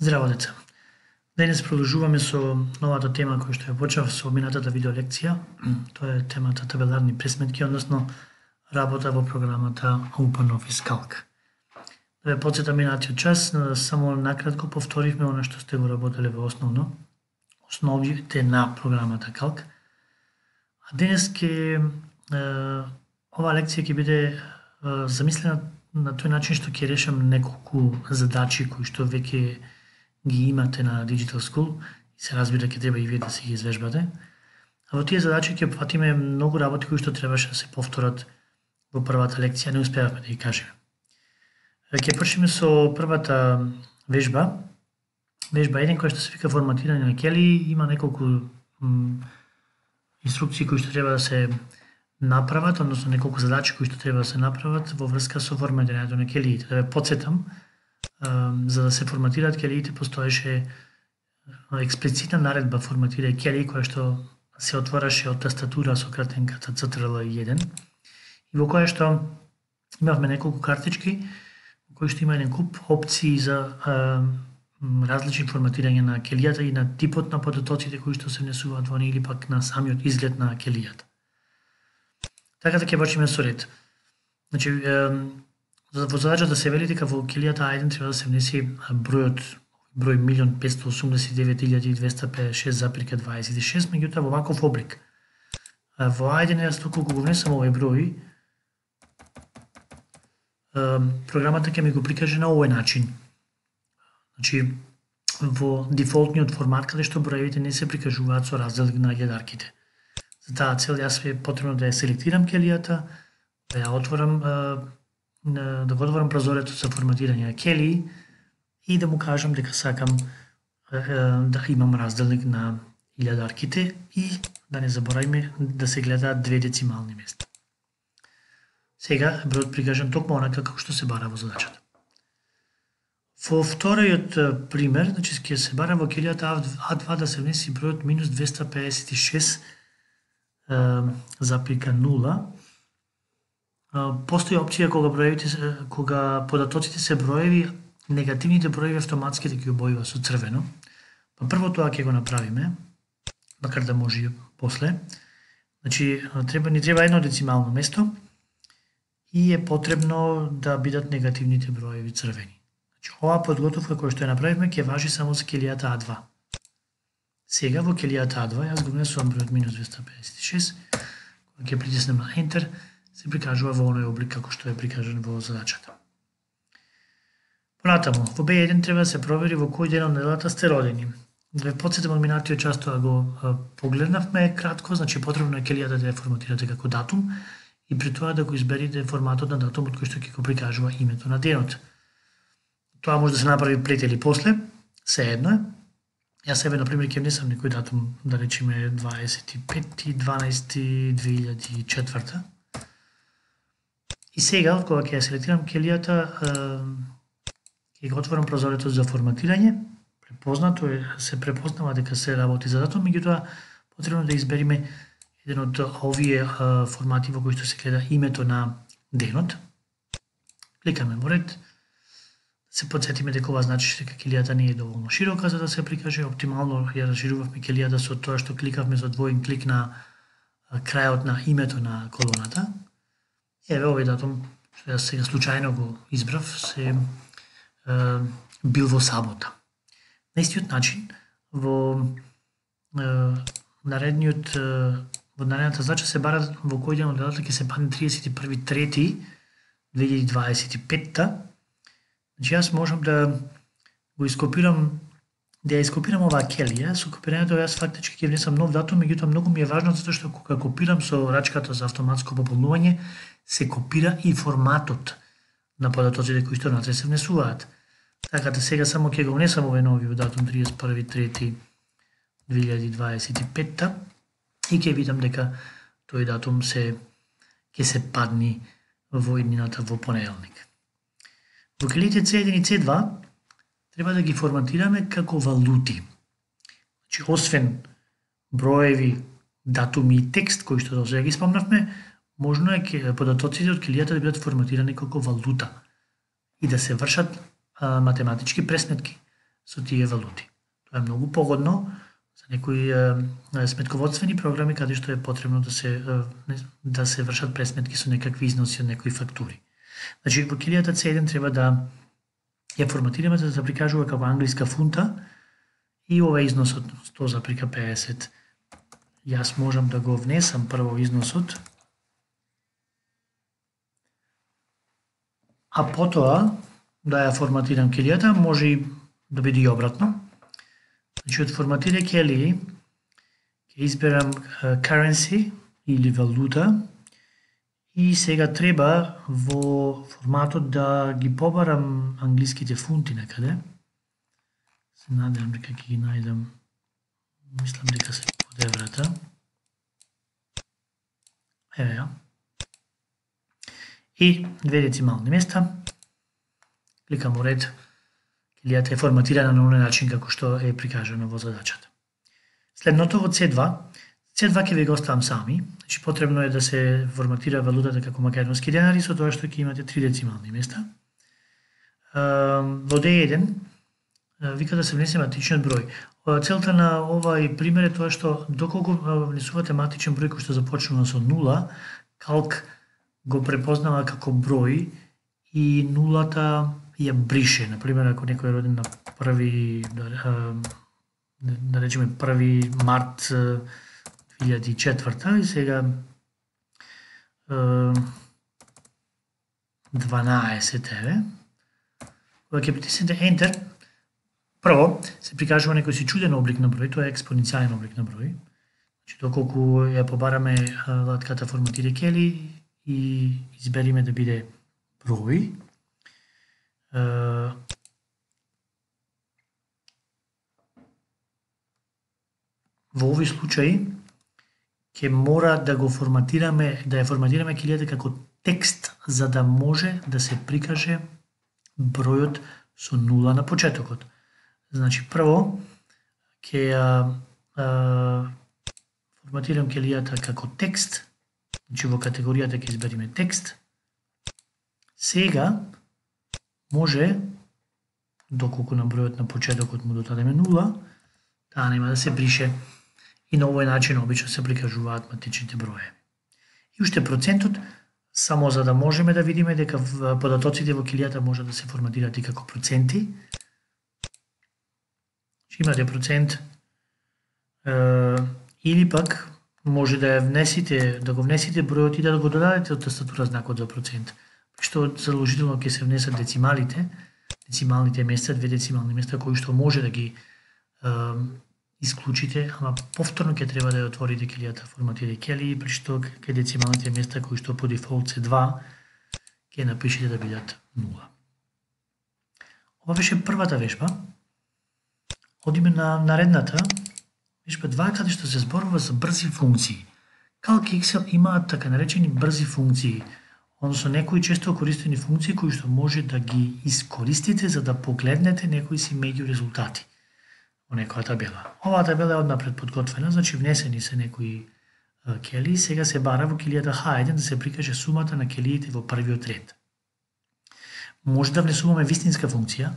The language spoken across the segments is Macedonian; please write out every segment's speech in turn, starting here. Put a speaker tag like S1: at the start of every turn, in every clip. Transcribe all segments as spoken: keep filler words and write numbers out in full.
S1: Здраво, деца! Денес продолжуваме со новата тема која што ја почнав со минатата видеолекција. Тоа е темата табеларни пресметки, односно работа во програмата OpenOffice Calc. Да ве потсетам минатиот час, само накратко повторивме она што сте го работеле во основно, основите на програмата Calc. А денес ќе оваа лекција ќе биде замислена на тој начин што ќе решам неколку задачи кои што веќе ги имате на Digital School и се разбира ќе треба и вие да се ги извежбате. А во тие задачи ќе опфатиме многу работи кои што требаше да се повторат во првата лекција, не успеавме да ги кажеме. Ќе почнеме со првата вежба. Вежба еден која што се вика форматирање на келии, има неколку инструкции кои што треба да се направат, односно неколку задачи кои што треба да се направат во врска со форматирањето на келиите. Да ве потсетам, за да се форматираат келиите постоеше експлицитна наредба форматирај келии која што се отвораше од тастатура со кратенката Цтрл еден и во која што имавме неколку картички во кои што има еден куп опции за а, различни форматирање на келијата и на типот на податоците кои што се внесуваат во неа или пак на самиот изглед на келијата. Така да ќе почнеме со ред. Значи, во задача да се вели дека во келијата А еден треба да се внеси бројот број милион петстотини осумдесет и девет илјади двеста педесет и шест запирка дваесет и шест, меѓутоа во ваков облик. Во А еден јас доколку го внесам овој број, програмата ќе ми го прикаже на овој начин. Значи, во дефолтниот формат каде што броевите не се прикажуваат со разделник на илјадарките. За таа цел јас е потребно да ја селектирам келијата, да ја отворам, да го отворам прозорецот за форматирање на келии и да му кажам дека сакам да имам разделник на илјадарките и да не забораваме да се гледаат две децимални места. Сега бројот прикажан токму онака како што се бара во задачата. Во вториот пример, значи ќе се бара во келијата А два да се внеси бројот минус двеста педесет и шест запирка нула. Постои опција кога броевите кога податоците се броеви, негативните броеви автоматски да ги обојува со црвено. Па прво тоа ќе го направиме, макар да може и после. Значи, треба ни треба едно децимално место и е потребно да бидат негативните броеви црвени. Значи, оваа подготовка која што ја направивме ќе важи само за келијата А два. Сега во келијата А два јас го внесувам бројот минус двеста педесет и шест, кога ќе притиснем на Enter, се прикажува во оној облик како што е прикажан во задачата. Понатаму, во Б еден треба да се провери во кој ден од неделата сте родени. Да ве потсетам од минатиот час тоа го погледнавме кратко, значи потребно е келијата да ја форматирате како датум и при тоа да го изберите форматот на датумот кој што ќе го прикажува името на денот. Тоа може да се направи пред или после, се едно е. Јас себе, например, ќе внесам некој датум, да речеме дваесет и пети дванаесети две илјади и четврта. И сега, кога ќе ја селектирам келијата, ќе го отворам прозорецот за форматирање. Препознато е, се препознава дека се работи за датум, меѓутоа потребно да избериме еден од овие формати во кои што се гледа името на денот. Кликаме во ред. Се потсетиме дека ова значи дека келијата не е доволно широка за да се прикаже. Оптимално ја расширувавме келијата со тоа што кликавме со двоен клик на крајот на името на колоната. Еве овој датум што јас сега случајно го избрав се е, бил во сабота. На истиот начин во е, наредниот во наредната задача се бара во кој ден од неделата ќе се падне тридесет и први трети две илјади дваесет и петта. Значи јас можам да го ископирам, да ја ископирам оваа келија, со копирањето јас фактички ќе внесам нов датум, меѓутоа многу ми е важно затоа што кога копирам со рачката за автоматско пополнување, се копира и форматот на податоците кои што внатре се внесуваат. Така да сега само ќе го внесам овој новиот датум тридесет и први трети две илјади дваесет и петта и ќе видам дека тој датум се ќе се падни во иднината во понеделник. Во келиите С еден и С два треба да ги форматираме како валути. Значи, освен броеви, датуми и текст кои што досега ги спомнавме, можно е податоците од келијата да бидат форматирани како валута и да се вршат а, математички пресметки. со тие валути. Тоа е многу погодно за некои е, сметководствени програми каде што е потребно да се е, да се вршат пресметки со некакви износи од некои фактури. Значи во килијата Ц еден треба да ја форматираме за да се прикажува како англиска фунта и ова износот сто запирка педесет. Јас можам да го внесам прво износот, а потоа да ја форматирам килијата, може и да биде и обратно. Значи, од форматирај келии, ќе изберам uh, currency или валута и сега треба во форматот да ги побарам англиските фунти некаде. Се надевам дека ќе ги најдам, мислам дека се под еврата. Еве ја. И две децимални места. Кликам во ред. Килијата е форматирана на оној начин како што е прикажано во задачата. Следното во Ц два. Ц два ќе ви го оставам сами. Значи потребно е да се форматира валутата како македонски денари со тоа што ќе имате три децимални места. Во Д еден вика да се внесе матичниот број. Целта на овај пример е тоа што доколку внесувате матичен број кој што започнува со нула, калк го препознава како број и нулата ја брише. Например, ако некој е роден на први, да, да речеме први март две илјади и четврта и сега дванаесет еве, кога ќе притиснете Enter, прво се прикажува некој си чуден облик на број, тоа е експоненцијален облик на број. Значи, доколку ја побараме латката форматирај кели и избериме да биде број, во овој случај ќе мора да го форматираме, да ја форматираме килијата како текст за да може да се прикаже бројот со нула на почетокот. Значи прво ќе ја форматирам килијата како текст, значи во категоријата ќе избериме текст. Сега може, доколку на бројот на почетокот му додадеме нула, таа нема да се брише и на овој начин обично се прикажуваат матичните броеви. И уште процентот, само за да можеме да видиме дека податоците во килијата може да се форматираат и како проценти. Имате процент е, или пак може да ја внесите, да го внесите бројот и да го додадете од тастатура знакот за процент. Што заложително ќе се внесат децималите, децималните места, две децимални места кои што може да ги е, исклучите, ама повторно ќе треба да ја отворите килијата форматирај кели, при што кај децималните места кои што по дефолт се два, ќе напишете да бидат нула. Ова беше првата вежба. Одиме на наредната, вежба два, каде што се зборува за брзи функции. Calc и Excel имаат така наречени брзи функции, односно некои често користени функции кои што може да ги искористите за да погледнете некои си меѓу резултати во некоја табела. Оваа табела е однапред подготвена, значи внесени се некои келии, сега се бара во килијата Х еден да се прикаже сумата на келиите во првиот ред. Може да внесуваме вистинска функција,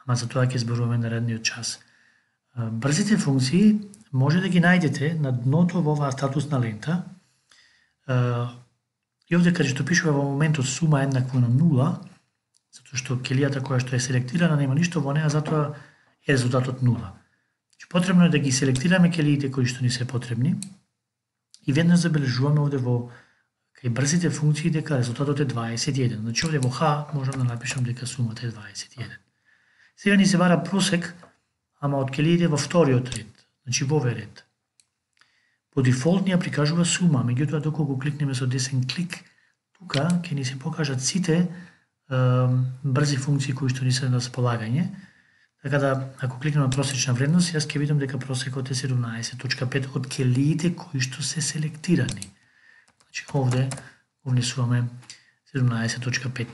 S1: ама за тоа ќе зборуваме наредниот час. Брзите функции може да ги најдете на дното во оваа статусна лента. И овде каде што пишува во моментот сума еднакво на нула, затоа што келијата која што е селектирана нема ништо во неа, затоа е резултатот нула. Значи, потребно е да ги селектираме келиите кои што ни се потребни и веднаш забележуваме овде во кај брзите функции дека резултатот е дваесет и еден. Значи овде во Х можам да напишам дека сумата е дваесет и еден. Сега ни се бара просек, ама од келиите во вториот ред, значи во овој ред. По дефолт ни ја прикажува сума, меѓутоа доколку кликнеме со десен клик, тука ќе ни се покажат сите е, брзи функции кои што ни се на располагање. Така да, ако кликнем на просечна вредност, јас ќе видам дека просекот е седумнаесет точка пет од келиите кои што се селектирани. Значи овде внесуваме седумнаесет точка пет.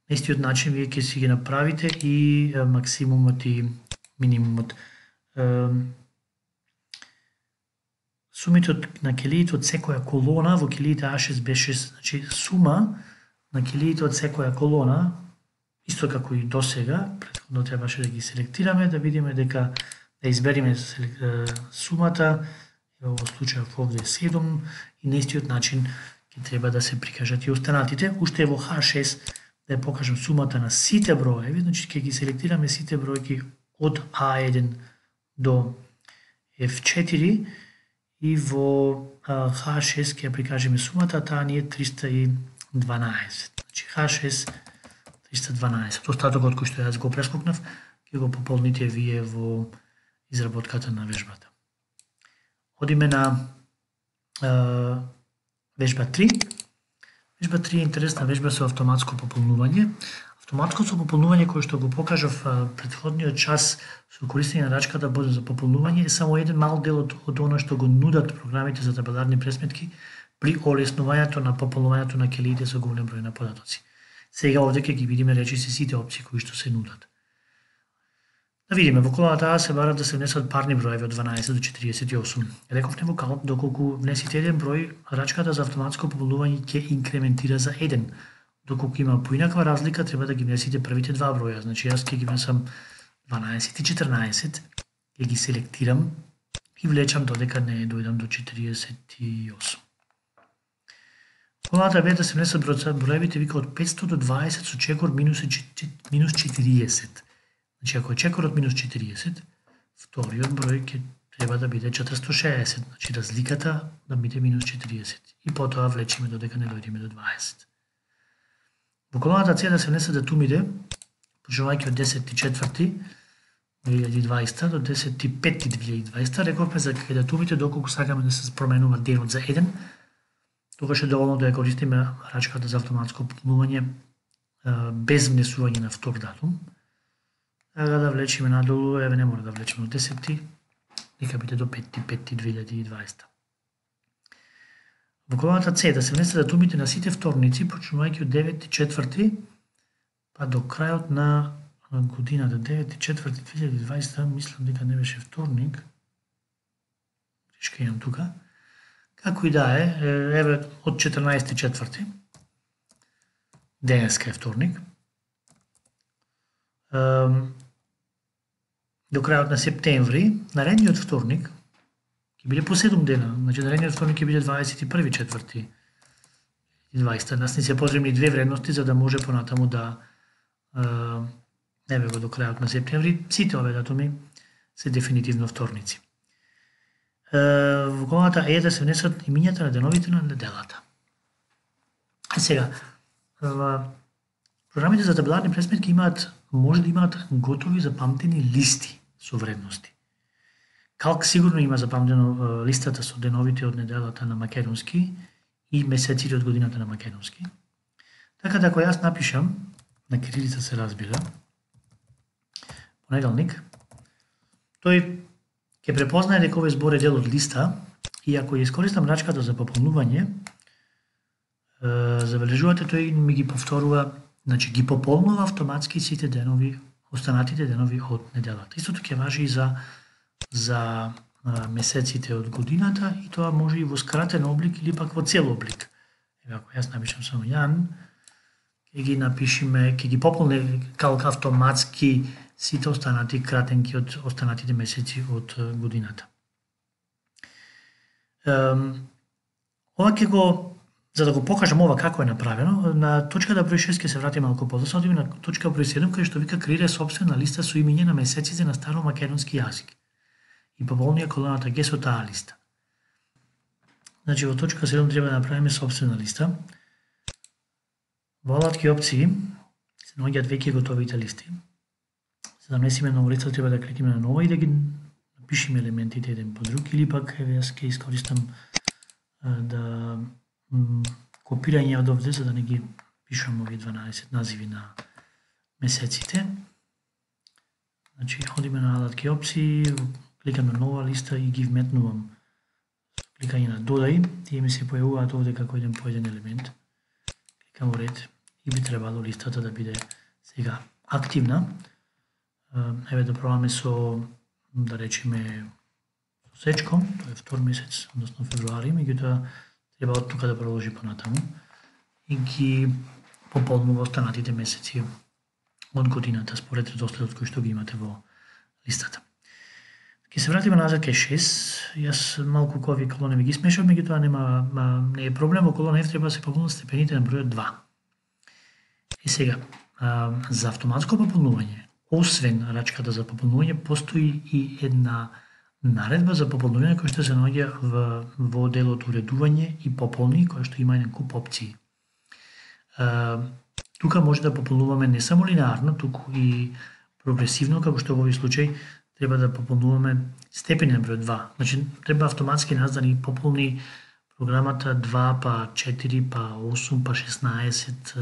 S1: На истиот начин вие ќе си ги направите и е, максимумот и минимумот. Е, Сумите на келиите од секоја колона во келиите А шест Б шест, значи сума на келиите од секоја колона исто како и досега, претходно требаше да ги селектираме, да видиме дека да избериме сумата, во овој случај овде е седум, и на истиот начин ќе треба да се прикажат и останатите. Уште во Х шест да ја покажам сумата на сите броеви, значи ќе ги селектираме сите бројки од А еден до Ф четири и во Х шест ќе ја прикажеме сумата, таа ни е триста и дванаесет. Значи Х шест триста и дванаесет. Остатокот кој што јас го прескокнав, ќе го пополните вие во изработката на вежбата. Одиме на е, вежба три. Вежба три е интересна вежба со автоматско пополнување. Автоматското пополнување кој што го покажав претходниот час со користење на рачката за пополнување е само еден мал дел од, од оно што го нудат програмите за табеларни пресметки при олеснувањето на пополнувањето на келиите со голем број на податоци. Сега овде ќе ги видиме речиси сите опции кои што се нудат. Да видиме, во колоната А се бара да се внесат парни броеви од дванаесет до четириесет и осум. Рековме во калп, доколку внесите еден број, рачката за автоматско пополнување ќе инкрементира за еден. Доколку има поинаква разлика, треба да ги внесите првите два броја. Значи јас ќе ги внесам дванаесет и четрнаесет, ќе ги селектирам и влечам додека не дојдам до четириесет и осум. Колоната Б да се внесат броевите вика од петстотини до дваесет со чекор минус четириесет. Значи, ако е чекорот минус четириесет, вториот број ќе треба да биде четиристотини и шеесет, значи разликата да биде минус четириесет. И потоа влечиме додека не дојдеме до дваесет. Во колоната С да се внесат датумите, почнувајќи од десети четврти две илјади и дваесета до десети пети две илјади и дваесета, рековме за кај датумите доколку сакаме да се променува денот за еден, тогаш е доволно да ја користиме рачката за автоматско пополнување без внесување на втор датум. Сега да влечиме надолу, еве не мора да влечиме од десети, нека биде до пети пети две илјади и дваесета. Во колоната С да се внесат датумите на сите вторници, почнувајќи од девети четврти па до крајот на годината, девети четврти две илјади и дваесета, мислам дека не беше вторник, грешка имам тука, како и да е, еве од четрнаесети четврти, денеска е вторник, до крајот на септември, наредниот вторник, ќе биде по седум дена, значи наредниот вторник ќе биде дваесет и први четврти и дваесета. Нас ни се потребни две вредности за да може понатаму да еве го до крајот на септември, сите овие датуми се дефинитивно вторници. Во колоната Е да се внесат имињата на деновите на неделата. А сега, програмите за табеларни пресметки имаат, може да имаат готови запамтени листи со вредности. Калк сигурно има запамтено листата со деновите од неделата на македонски и месеците од годината на македонски. Така да ако јас напишам, на кирилица се разбира, понеделник, тој ќе препознае дека овој збор е дел од листа и ако ја искористам рачката за пополнување, забележувате тој ми ги повторува, значи ги пополнува автоматски сите денови, останатите денови од неделата. Истото ќе важи и за за месеците од годината и тоа може и во скратен облик или пак во цел облик. Еве ако јас напишам само Јан, ќе ги напишеме, ќе ги пополне калк автоматски сите останати кратенки од останатите месеци од годината. Ова ќе го, за да го покажам ова како е направено, на точката број шест ќе се врати малку подоцна, одиме на точка број седум кај што вика креира сопствена листа со имиња на месеците на старомакедонски јазик и пополнија колоната Г со таа листа. Значи во точка седум треба да направиме сопствена листа. Во алатки опции се наоѓаат веќе готовите листи. За да внесеме ново листа треба да кликнеме на нова и да ги напишеме елементите еден по друг или пак еве јас ќе искористам да копирање од овде за да не ги пишам овие дванаесет називи на месеците. Значи одиме на алатки опции, кликам на нова листа и ги вметнувам. Кликање на додај, тие ми се појавуваат овде како еден по еден елемент. Кликам во ред и би требало листата да биде сега активна. Еве да пробаме со, да речеме, со сечком, тоа е втор месец, односно февруари, меѓутоа треба од тука да продолжи понатаму и ги пополнува останатите месеци од годината според редоследот кој што ги имате во листата. Ке се вратиме назад кај шест. Јас малку кој овие колони ми ги смешав, меѓутоа нема не е проблем, во колона F треба да се пополнат степените на бројот два. И сега, за автоматско пополнување, освен рачката за пополнување, постои и една наредба за пополнување која што се наоѓа во, во делот уредување и пополни, која што има еден куп опции. Тука може да пополнуваме не само линеарно, туку и прогресивно, како што во овој случај треба да пополнуваме степени на број два. Значи, треба автоматски нас да ни пополни програмата два, па четири, па осум, па шеснаесет,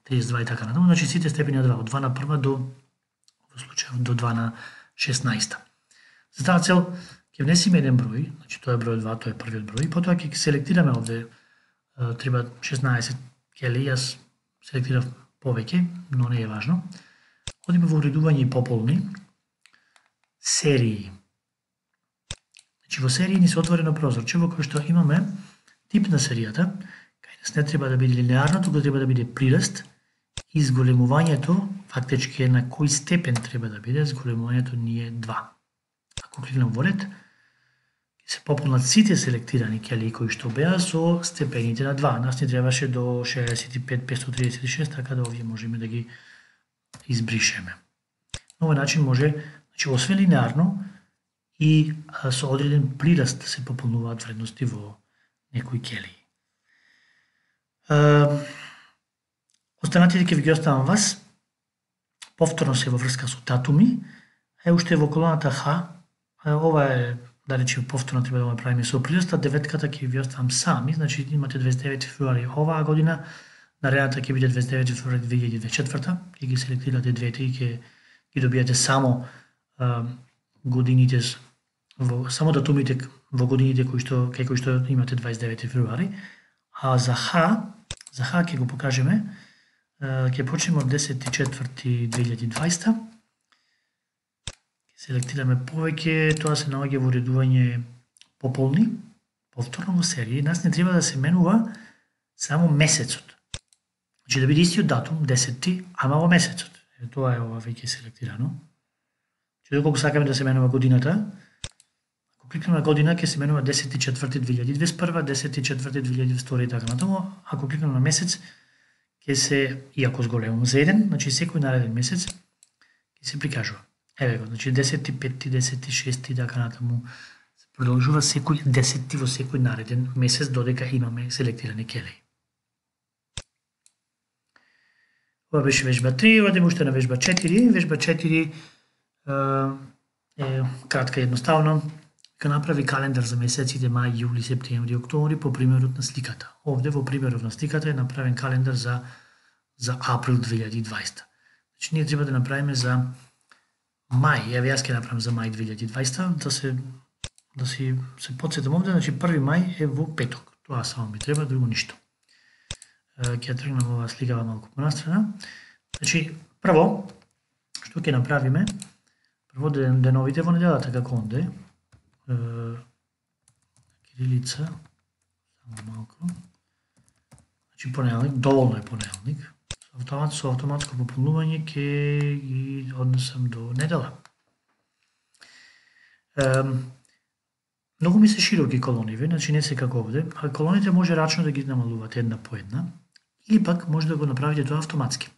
S1: триесет и два и така натаму. Значи, сите степени на два, од два на прва до, во случај, до два на шеснаесет. За таа цел, ќе внесиме еден број, значи тоа е број два, тоа е првиот број, и потоа ќе селектираме овде, треба шеснаесет кели, јас селектирав повеќе, но не е важно. Одиме во уредување и пополни, серии. Значи, во серии ни се отворено прозорче во кој што имаме тип на серијата, кај нас не треба да биде линеарно, туку треба да биде прираст, и зголемувањето, фактички е на кој степен треба да биде, зголемувањето ни е два. Ако кликнам во ред, ќе се пополнат сите селектирани кели кои што беа со степените на два. Нас ни требаше до шеесет и пет петстотини триесет и шест, така да овие можеме да ги избришеме. На овој начин може, значи, освен линеарно и со одреден прираст се пополнуваат вредности во некои кели. Останатите ќе ви ги оставам вас. Повторно се во врска со датуми. Е, уште во колоната Х, ова е, да речем, повторно треба да го правиме со прираста, деветката ќе ви оставам сами, значи имате дваесет и девети февруари оваа година, наредната ќе биде дваесет и девети февруари две илјади и дваесет и четврта, ќе ги селектирате двете и ќе ги добијате само а, годините, во, само датумите во годините кои што, кај кои што имате дваесет и девети февруари, а за Х, за Х ќе го покажеме, ќе почнеме од десети четврти две илјади и дваесета, селектираме повеќе, тоа се наоѓа во уредување пополни, повторно во серија. Нас не треба да се менува само месецот. Значи да биде истиот датум, десети, ама во месецот. Е, тоа е ова веќе селектирано. Че доколку сакаме да се менува годината, ако кликнеме на година, ќе се менува десети четврти две илјади и дваесет и прва, десети четврти две илјади и дваесет и втора и така натаму. Ако кликнеме на месец, ќе се, иако зголемам за еден, значи секој нареден месец ќе се прикажува. Еве го, значи десети пети, десети шести и така натаму. Се продолжува секој десети во секој нареден месец додека имаме селектирани кели. Ова беше вежба три, одиме уште на вежба четири. Вежба четири е кратка и едноставно. Ка направи календар за месеците мај, јули, септември, октомври по примерот на сликата. Овде во примерот на сликата е направен календар за за април две илјади и дваесета. Значи ние треба да направиме за мај, еве јас ќе направам за мај две илјади и дваесета, да се да си се потсетам овде, значи први мај е во петок. Тоа само ми треба, друго ништо. Ќе тргнам оваа сликава малку понастрана. Значи, прво, што ќе направиме? Прво деновите во неделата како онде. Кирилица, само малку. Значи понеделник, доволно е понеделник. Автомат, со автоматско пополнување ќе ги однесам до недела. Многу ми се широки колониве, значи не се како овде, а колоните може рачно да ги намалувате една по една, или пак може да го направите тоа автоматски.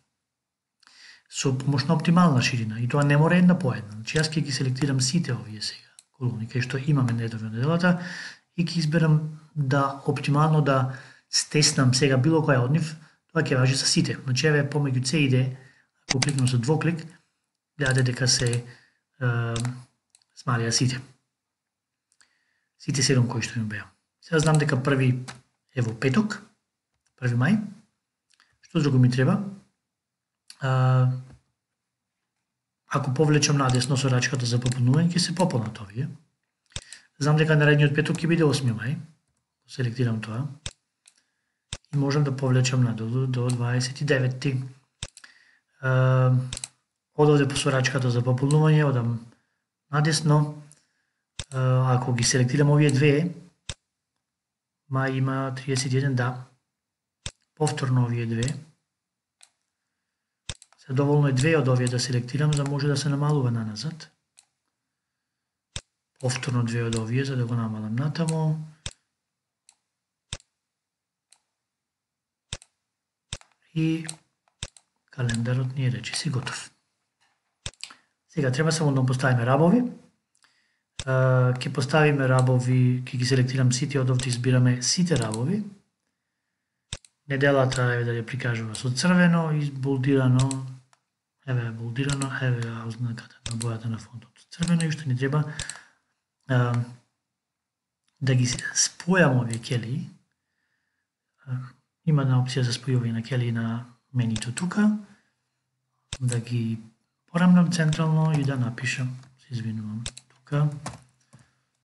S1: Со помош на оптимална ширина, и тоа не мора една по една. Значи јас ќе ги селектирам сите овие сега колони, кај што имаме недове неделата, и ќе изберам да оптимално да стеснам сега било која од нив, тоа ќе важи за сите. Значи еве помеѓу С и Д, ако кликнам со двоклик, гледате дека се е, смалија сите. Сите седум кои што им беа. Сега знам дека први е во петок, први мај. Што друго ми треба? А, ако повлечам надесно со рачката за пополнување, ќе се пополнат овие. Знам дека наредниот петок ќе биде осми мај. Селектирам тоа. И можам да повлечам надолу до дваесет и деветти. А, од овде по рачката за пополнување, одам надесно. Ако ги селектирам овие две, мај има триесет и еден, да. Повторно овие две. Доволно е две од овие да селектирам, за да може да се намалува наназад. Повторно две од овие, за да го намалам натаму. И календарот ни е речиси готов. Сега треба само да поставиме рабови. Ќе поставиме рабови, ќе ги селектирам сите од овде, избираме сите рабови. Неделата, еве да ја прикажува со црвено, изболдирано, еве е болдирано, еве е ознаката на бојата на фонтот црвено, и што ни треба а, да ги спојам овие келии. Има една опција за спојување на келии на менито тука, да ги порамнам централно и да напишам, се извинувам, тука,